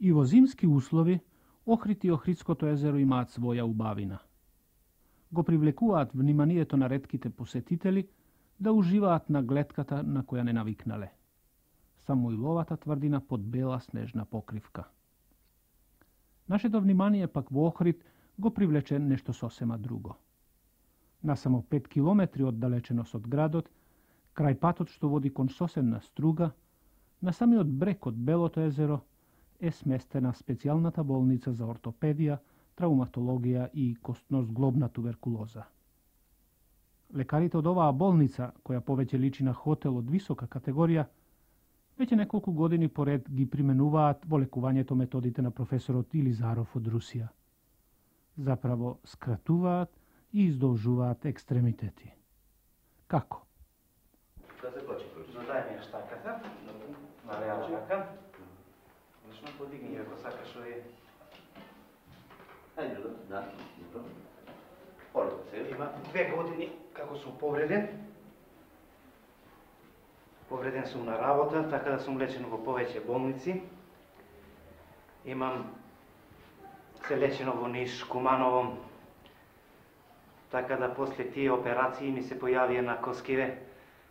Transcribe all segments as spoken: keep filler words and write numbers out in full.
И во зимски услови Охрид и Охридското езеро имаат своја убавина. Го привлекуваат вниманието на ретките посетители да уживаат на глетката на која не навикнале. Самуиловата тврдина под бела снежна покривка. Нашето внимание пак во Охрид го привлече нешто сосема друго. На само пет километри оддалеченост од градот, крај патот што води кон сосемна струга, на самиот брег од Белото езеро е сместена специјалната болница за ортопедија, травматологија и костно-зглобна туберкулоза. Лекарите од оваа болница, која повеќе личи на хотел од висока категорија, веќе неколку години поред ги применуваат во лекувањето методите на професорот Илизаров од Русија. Заправо скратуваат и издолжуваат екстремитети. Како? Да се почи проči. Додај ми ја штаката, на лева рака. Лично подигни ја, ако сакаш овие. Ајде, да, добро. Полето се. Има две години како сум повреден. Повреден сум на работа, така да сум лечен во повеќе болници. Имам се лечено во Ниш, Куманово, така да после тие операции ми се појавија на коскиве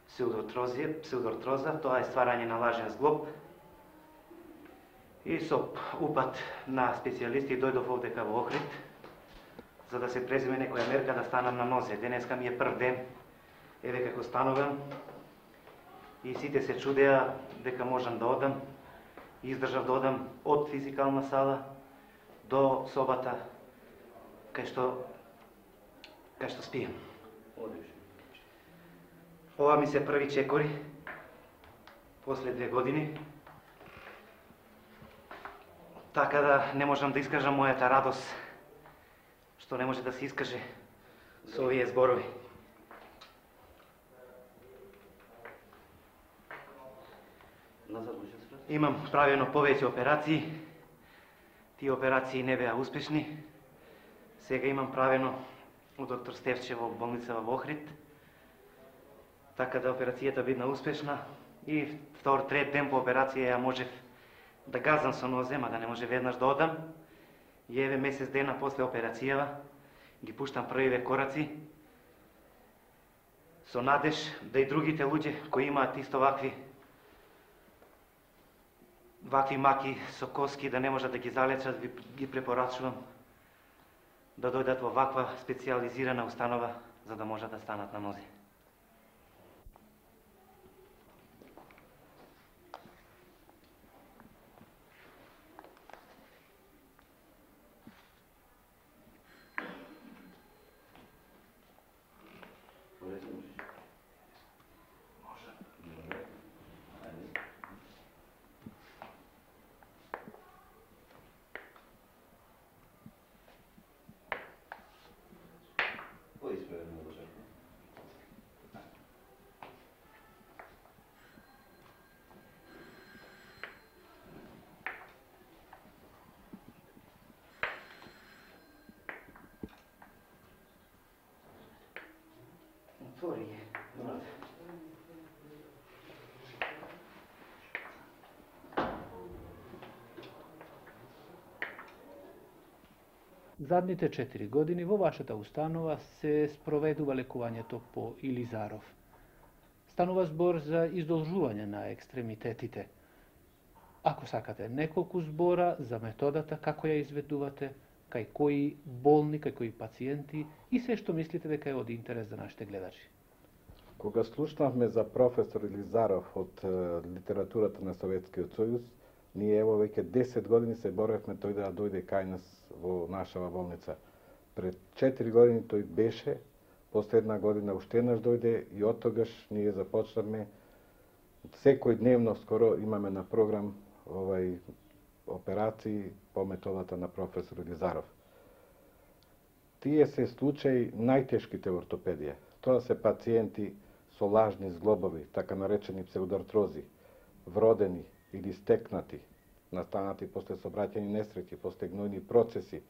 псевдортроза, тоа е стварање на лажен зглоб. И со упат на специјалисти дојдов овдека во Охрид, за да се преземе некоја мерка да станам на нозе. Денеска ми е прв ден, еве како станувам, и сите се чудеа дека можам да одам. Издржав да одам од физикална сала до собата кај што кај што спијам. Ова ми се први чекори после две години. Така да не можам да искажам мојата радост, што не може да се искаже со овие зборови. Имам правено повеќе операции. Тие операции не беа успешни. Сега имам правено у доктор Стевче во болница во Охрид. Така да операцијата бидна успешна. И втор, трет ден по операција ја можев да газам со нозе, ма да не може веднаш да одам. И еве месец дена после операцијава ги пуштам првиве кораци со надеж да и другите луѓе кои имаат исто вакви вакви маки со коски да не можат да ги залечат, ги препорачувам да дојдат во ваква специјализирана установа за да можат да станат на нозе. Отвори ја. Задните четири години во вашата установа се спроведува лекувањето по Илизаров. Станува збор за издолжување на екстремитетите. Ако сакате неколку збора за методата, како ја изведувате, кај кои болни, кај кои пациенти и се што мислите дека е од интерес за нашите гледачи. Кога слушнавме за професор Илизаров од литературата на Советскиот сојуз, ние ево веќе десет години се боревме тој да дојде кај нас во нашава болница. Пред четири години тој беше, последна година уште еднаш дојде и од тогаш ние започнавме секој дневно скоро имаме на програм овај операции по методата на професор Илизаров. Тие се случаи најтешките во ортопедија. Тоа се пациенти со лажни зглобови, така наречени псевдоартрози, вродени или стекнати, настанати после сообраќајни несреќи, после гнојни процеси,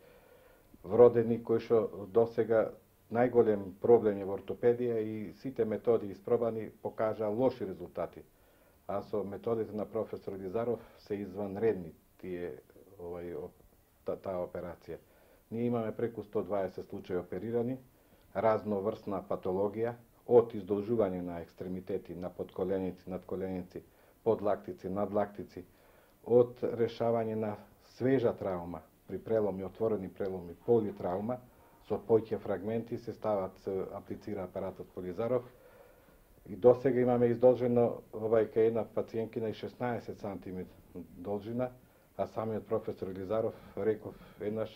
вродени кои што досега најголем проблем е во ортопедија и сите методи испробани покажаа лоши резултати. А со методите на професор Илизаров се изванредни тие овај та, таа операција. Ние имаме преку сто дваесет случаи оперирани, разноврсна патологија, од издолжување на екстремитети, на подколеници, надколеници, подлактици, надлактици, од решавање на свежа травма, при преломи, отворени преломи, политраума, со поќе фрагменти се стават, се аплицира апаратот Полизаров. И досега имаме издолжено овај кај една пациенткина и шеснаесет сантиметри должина, а самиот професор Илизаров реков еднаш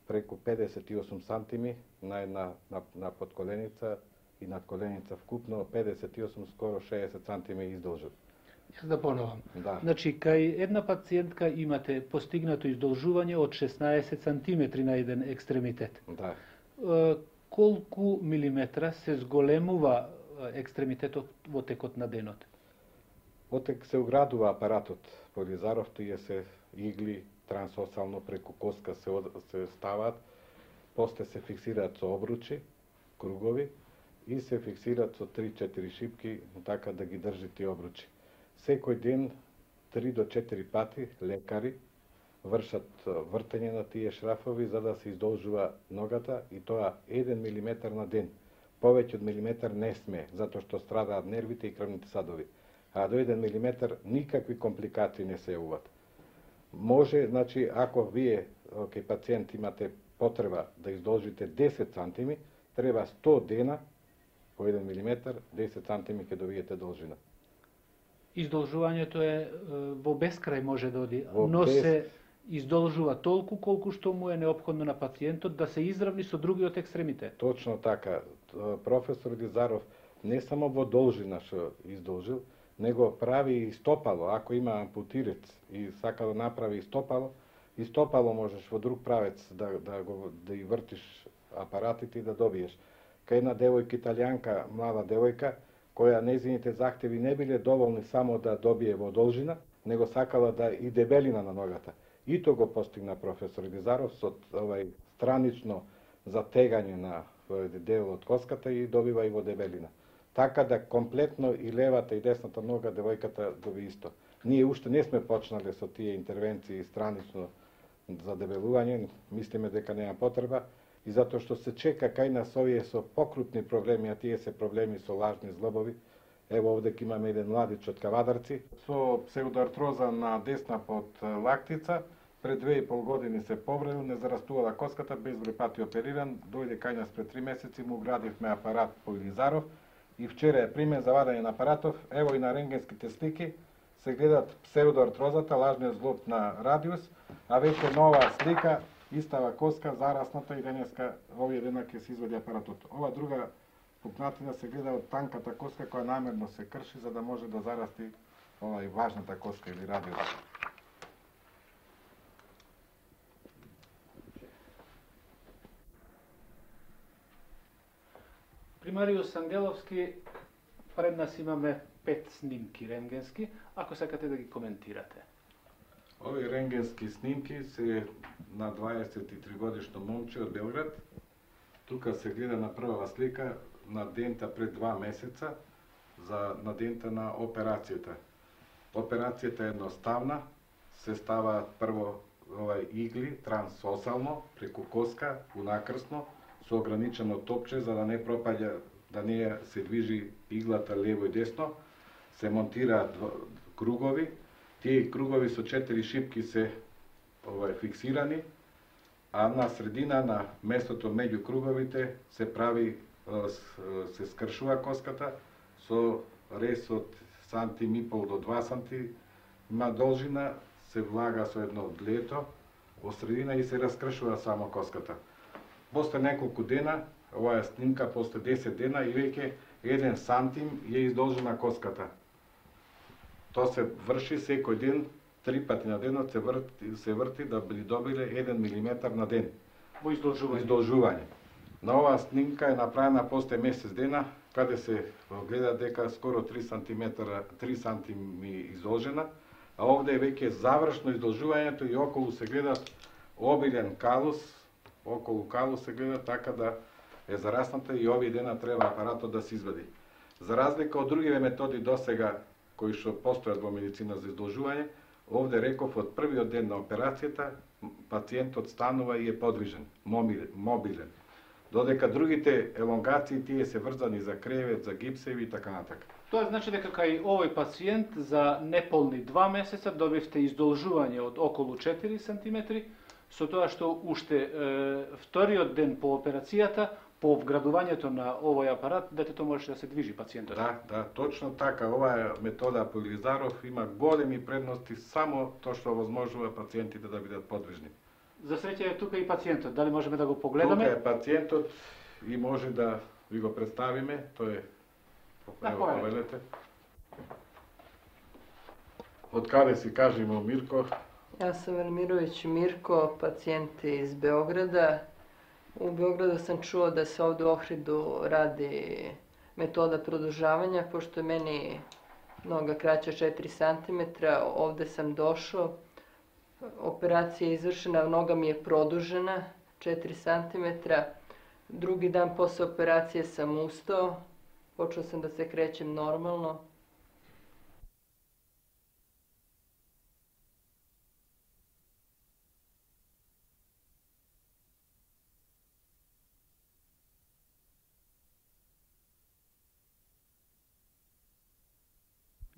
преку педесет и осум сантиметри на една на, на подколеница и надколеница вкупно педесет и осум, скоро шеесет сантиметри издолжен. Јас да поновам. Да. Значи, кај една пациентка имате постигнато издолжување од шеснаесет сантиметри на еден екстремитет. Да. Е, колку милиметра се зголемува екстремитетот во текот на денот? Отек се уградува апаратот Полизаров, тие се игли трансосално преку коска се, од, се стават, после се фиксираат со обручи, кругови, и се фиксираат со три-четири шипки, така да ги држи тие обручи. Секој ден три до четири пати лекари вршат вртење на тие шрафови за да се издолжува ногата, и тоа еден милиметар на ден. Повеќе од милиметар не сме, затоа што страдаат нервите и крвните садови. А до еден милиметар никакви компликации не се јавуваат. Може, значи, ако вие кај пациент имате потреба да издолжите десет сантиметри, треба сто дена по еден милиметар, десет сантиметри ќе добиете должина. Издолжувањето е во бескрај може да оди, Во но без... се издолжува толку колку што му е неопходно на пациентот да се изравни со другиот екстремитет. Точно така. Професор Илизаров не само во должина што издолжил, него прави и стопало. Ако има ампутирец и сака да направи и стопало, и стопало можеш во друг правец да, да, го, да и вртиш апаратите и да добиеш. Кај една девојка италијанка, млада девојка, која незините захтеви не биле доволни само да добие во должина, него сакала да и дебелина на ногата. И то го постигна професор Илизаров со овај странично затегање на дел од коската и добива и во дебелина. Така да комплетно и левата и десната нога девојката доби исто. Ние уште не сме почнале со тие интервенции странично за дебелување, мислиме дека нема потреба, и затоа што се чека кај нас овие со покрупни проблеми, а тие се проблеми со лажни злобови. Ево овде имаме еден младич од Кавадарци со псевдоартроза на десна подлактица, пред две и пол години се повредил, не зарастувала коската, безброј пати опериран, дојде кај нас пред три месеци, му градивме апарат по Илизаров и вчера е примен за вадење на апаратов. Ево и на рентгенските слики се гледат псевдоартрозата, лажниот злоб на радиус, а веќе нова слика, истава коска, зарасната, и денеска овие дена ќе се извади апаратот. Ова друга пукнатина се гледа од танката коска која намерно се крши за да може да зарасти овај важната коска или радиус. Примариус Ангеловски, пред нас имаме пет снимки рентгенски, ако сакате да ги коментирате. Овие рентгенски снимки се на дваесет и три годишно момче од Белград. Тука се гледа на прва слика на дента пред два месеца за на дента на операцијата. Операцијата е едноставна, се става прво овај игли трансосално преку коска унакрсно со ограничено топче за да не пропаѓа, да не се движи иглата лево и десно. Се монтираат кругови. Тие кругови со четири шипки се овај фиксирани, а на средина на местото меѓу круговите се прави, се скршува коската со рез од сантим и пол до два сантиметри има должина, се влага со едно длето во средина и се раскршува само коската. После неколку дена, оваа снимка после десет дена и веќе еден сантим е издолжена коската. Тоа се врши секој ден, три пати на денот се врти, се врти да би добиле еден милиметар на ден. Во издолжување. издолжување. На оваа снимка е направена после месец дена, каде се гледа дека скоро три сантиметра, три сантиметри издолжена, а овде е веќе завршно издолжувањето и околу се гледа обилен калус, околу калус се гледа така да е зарасната и овие дена треба апаратот да се извади. За разлика од другиве методи досега кои што постојат во медицина за издолжување, Овде реков од првиот ден на операцијата пациентот станува и е подвижен, мобилен. Додека другите елонгации тие се врзани за кревет, за гипсеви и така натака. Тоа значи дека кај овој пациент за неполни два месеца добивте издолжување од околу четири сантиметри, со тоа што уште е, вториот ден по операцијата, по вградувањето на овој апарат, детето можеше да се движи пациентот. Да, да, точно така. Оваа метода по Илизаров има големи предности, само тоа што овозможува пациентите да бидат подвижни. За среќа е тука и пациентот, дали можеме да го погледаме? Тука е пациентот и може да ви го представиме, тој е, ево, повелете. Од каде си, кажи му, Мирко? Јас сум Велмировиќ Мирко, пациент из Београда. У Београду сам чуo да се овде у Охриду ради метода продолжавања, пошто е мени нога краќа четири сантиметра, овде сам дошao. Operacija je izvršena, noga mi je produžena četiri santimetra. Drugi dan posle operacije sam ustao, počeo sam da se krećem normalno.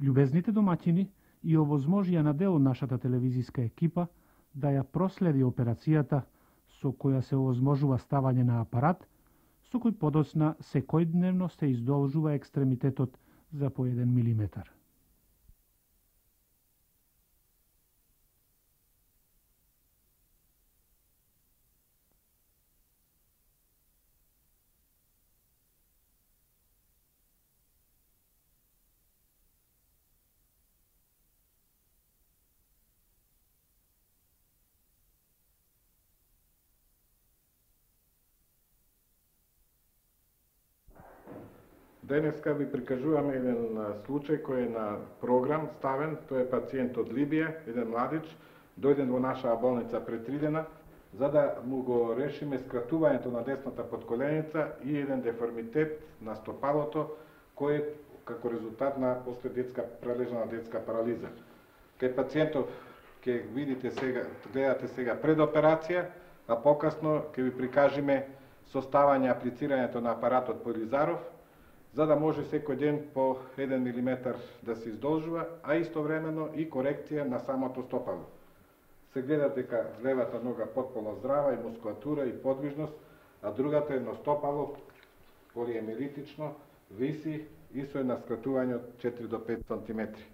Љубезните домаќини и овозможија на дел нашата телевизиска екипа да ја проследи операцијата со која се овозможува ставање на апарат, со кој подоцна секојдневно се издолжува екстремитетот за по еден милиметар. Денеска ви прикажуваме еден случај кој е на програм ставен. Тој е пациент од Либија, еден младич, дојден во нашава болница пред три дена, за да му го решиме скратувањето на десната подколеница и еден деформитет на стопалото, кој е како резултат на последетска прележна детска парализа. Кај пациентов ќе видите сега, гледате сега пред операција, а покасно ќе ви прикажеме составање аплицирањето на апаратот по Илизаров, за да може секој ден по еден милиметар да се издолжува, а истовремено и корекција на самото стопало. Се гледа дека левата нога потполно здрава и мускулатура и подвижност, а другата едно стопало полиемилитично виси и со една скратување од четири до пет сантиметри.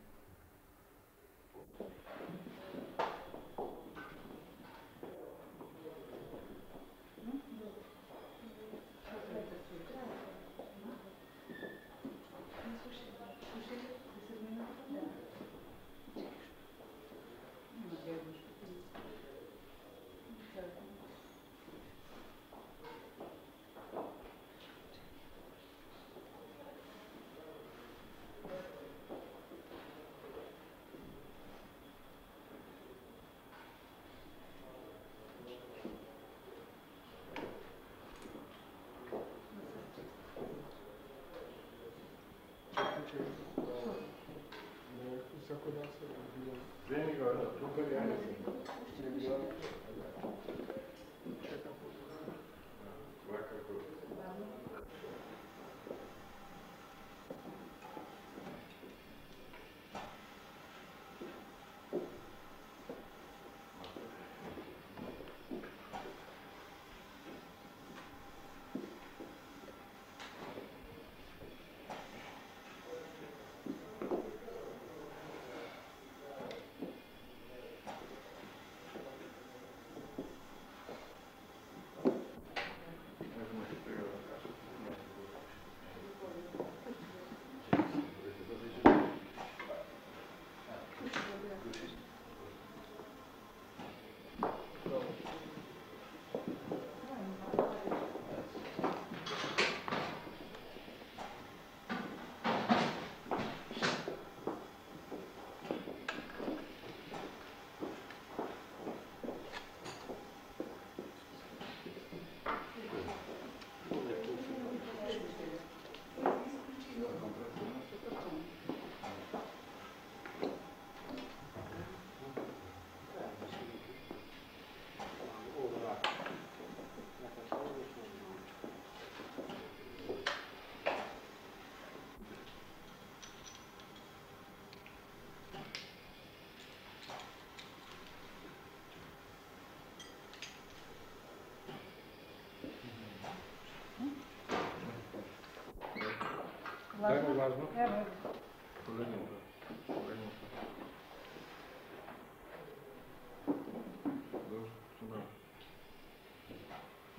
Дај ми важно. Ево.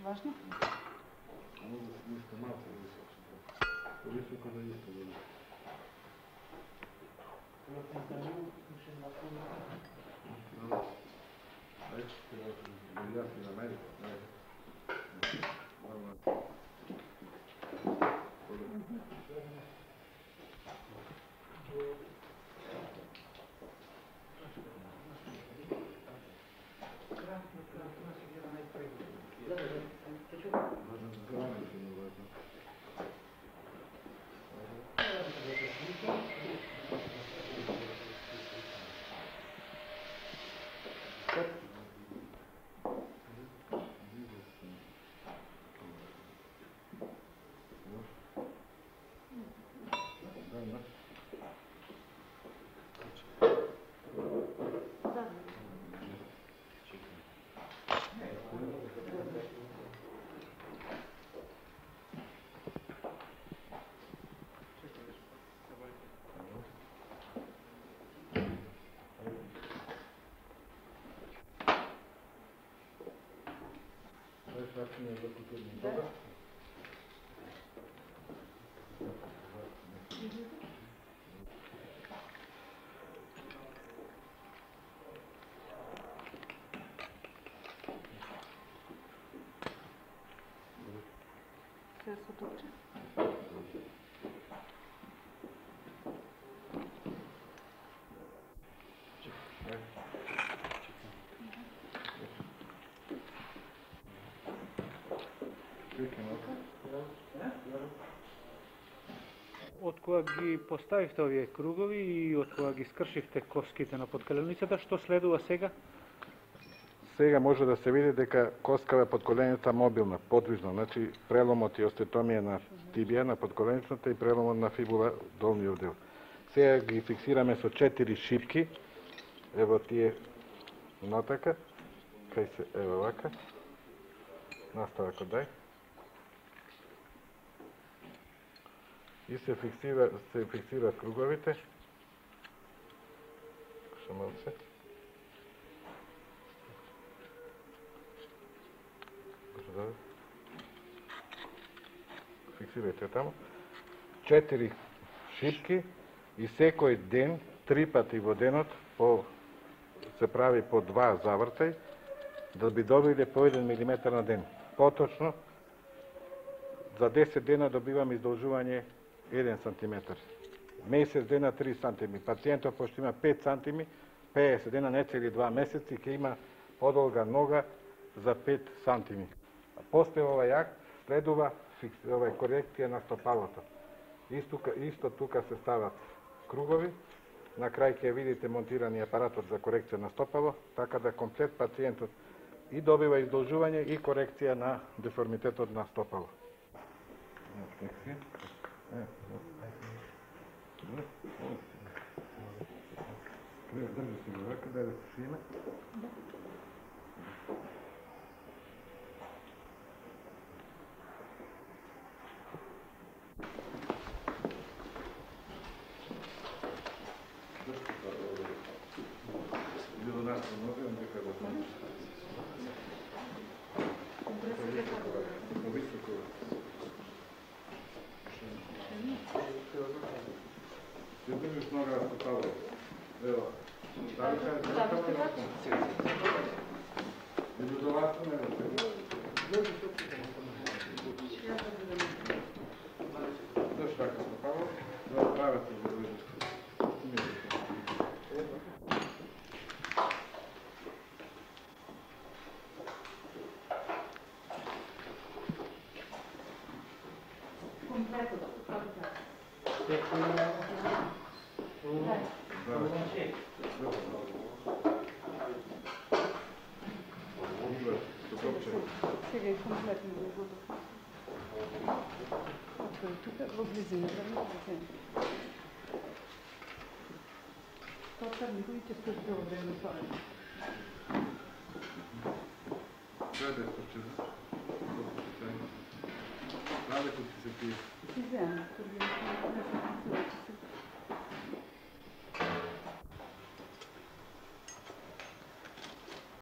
Важно? Може да си иска малко високо. Високо да иска да. Дай, да си на мен. Да. Все се точи. Од кога ги поставивте овие кругови и од кога ги скршивте коските на подколеницата, што следува сега? Сега може да се види дека коскава е подколеницата мобилна, подвижна, значи преломот и остеотомија на тибија на подколеницата и преломот на фибула долниот дел. Сега ги фиксираме со четири шипки, ево тие натака, кај се ево вака, настава кој дај. И се фиксира, се фиксира круговите. Што малце. Фиксирајте таму. Четири шипки и секој ден, три пати во денот, по, се прави по два завртај, да би добиле по еден милиметар на ден. Поточно, за десет дена добиваме издолжување еден сантиметар. Месец дена три сантими. Пациентот пошто има пет сантими, педесет дена, не цели два месеци, ќе има подолга нога за пет сантими. А после овај акт следува овај корекција на стопалото. Исто, исто тука се стават кругови, на крај ќе видите монтирани апаратот за корекција на стопало, така да комплет пациентот и добива издолжување и корекција на деформитетот на стопало. Држи се го вака, дај да се шиме. Иде до нас, може да дека го знам. Високо. Ти држиш нога на стопало. Ево. Дали кажеш да стопало на стопало? Иду до вас, не да се. Дошли така стопало, да правите да видиш. Сега е комплетно да го Окей, тук во близината на пациента. Тоа никој ќе стои цело време тоа. Гледай, што ќе... Каде ќе се пие? Си вземам, тук не се